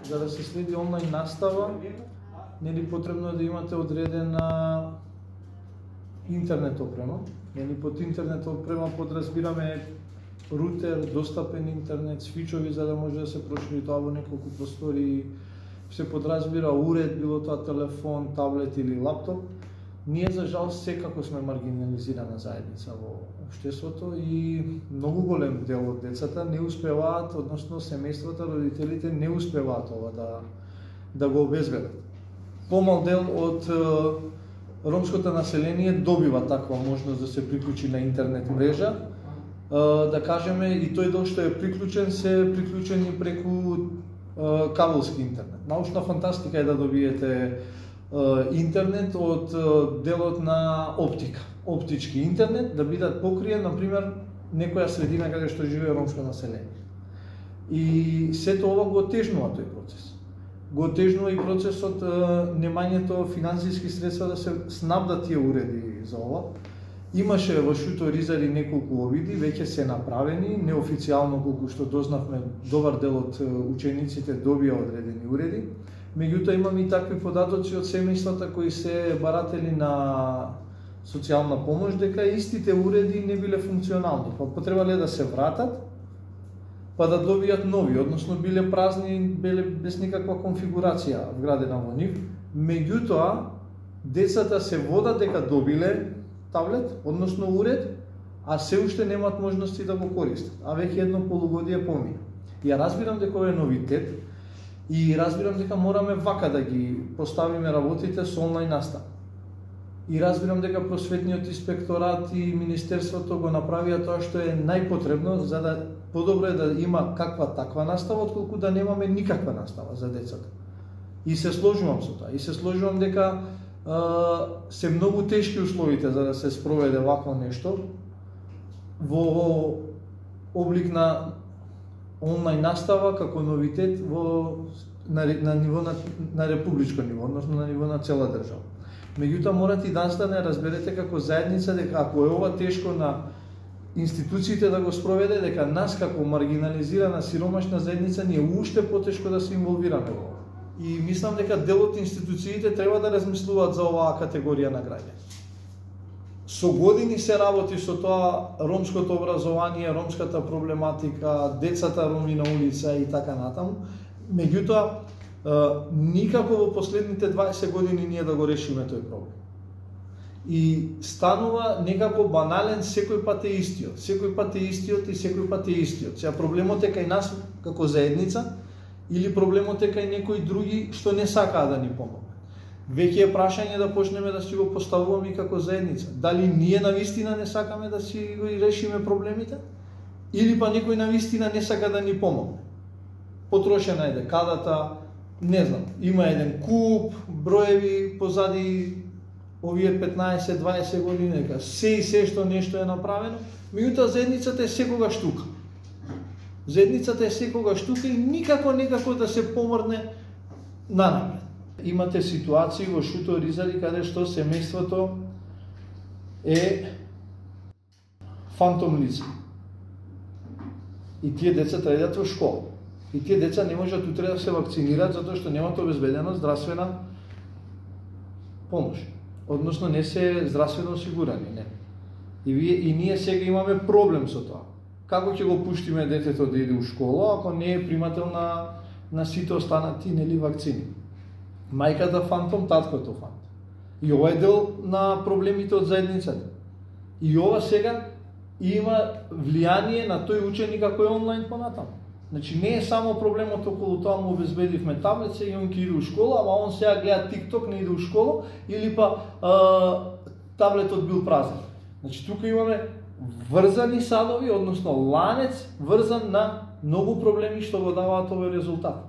за да се следи онлайн настава, нели потребно е да имате одредена интернет опрема. Нели под интернет опрема подразбираме рутер, достапен интернет, свичови за да може да се прошири тоа во неколку простори, се подразбира уред, било тоа телефон, таблет или лаптоп. Ние за жал секако сме маргинализирана заедница во општеството и многу голем дел од децата не успеваат, односно семејствата, родителите не успеваат ова да го обезбедат. Помал дел од ромското население добива таква можност да се приклучи на интернет мрежа. Да кажеме, и тој дел што е приклучен, се приклучени преку кабелски интернет. Научна фантастика е да добиете интернет од делот на оптика, оптички интернет, да бидат покриен, например, некоја средина каде што живее ромско население. И сето ова го отежнува тој процес. Го отежнува и процесот немањето финансиски средства да се снабдат тие уреди за ова. Имаше во Шуто Ризари неколку обиди, веќе се направени, неофицијално колку што дознавме, добар дел од учениците добија одредени уреди. Меѓутоа имаме и такви податоци од семејствата кои се баратели на социјална помош дека истите уреди не биле функционални, па потребале да се вратат, па да добијат нови, односно биле празни, биле без никаква конфигурација вградена во нив. Меѓутоа, децата се водат дека добиле таблет, односно уред, а се уште немаат можности да го користат, а веќе едно полугодие помина. Ја разбирам дека ова е новитет и разбирам дека мораме вака да ги поставиме работите со онлайн настава. И разбирам дека просветниот инспекторат и министерството го направија тоа што е најпотребно, за да подобро е да има каква таква настава, отколку да немаме никаква настава за децата. И се сложувам со тоа. И се сложувам дека се многу тешки условите за да се спроведе вакво нешто во облик на онлайн настава како новитет на ниво на републичко ниво, односно на ниво на цела држава. Меѓутоа морате и да разберете како заедница дека ако е ова тешко на институциите да го спроведе, дека нас како маргинализирана сиромашна заедница ни е уште потешко да се инволвираме во ова. И мислам дека дел од институциите треба да размислуваат за оваа категорија на граѓани. Со години се работи со тоа ромското образование, ромската проблематика, децата роми на улица и така натаму. Меѓутоа, никако во последните 20 години ние да го решиме тој проблем. И станува некако банален, секој пат е истиот. Секој пат е истиот и секој пат е истиот. Сега проблемот е кај нас како заедница, или проблемот е кај некои други што не сакаат да ни помогнат. Веќе е прашање да почнеме да си го поставуваме и како заедница. Дали ние навистина не сакаме да си го решиме проблемите, или па некој навистина не сака да ни помогне. Потрошена е декадата, не знам, има еден куп, броеви позади овие 15-20 години, дека се и се што нешто е направено, меѓутоа заедницата е секогаш тука. Заедницата е секогаш тука и никако да се помрне нанапред. Имате ситуации во Шуто Ризари каде што семејството е фантом лице. И тие деца треба да идат во школа. И тие деца не можат утре да се вакцинираат затоа што немат обезбедена здравствена помош. Односно не се здравствено осигурани, не. И ние сега имаме проблем со тоа. Како ќе го пуштиме детето да иде у школа ако не е примател на сите останати нели вакцини? Мајката фантом, таткото фантом. И ова е дел на проблемите од заедницата. И ова сега има влијание на тој ученик ако е онлайн понатаму. Значи не е само проблемот околу тоа му обезбедивме таблет, сега он ќе иде у школа, ама он сега гледа TikTok, не иде у школа, или па таблетот бил празен. Значи тука имаме врзани садови, односно ланец врзан на многу проблеми што го даваат овој резултат.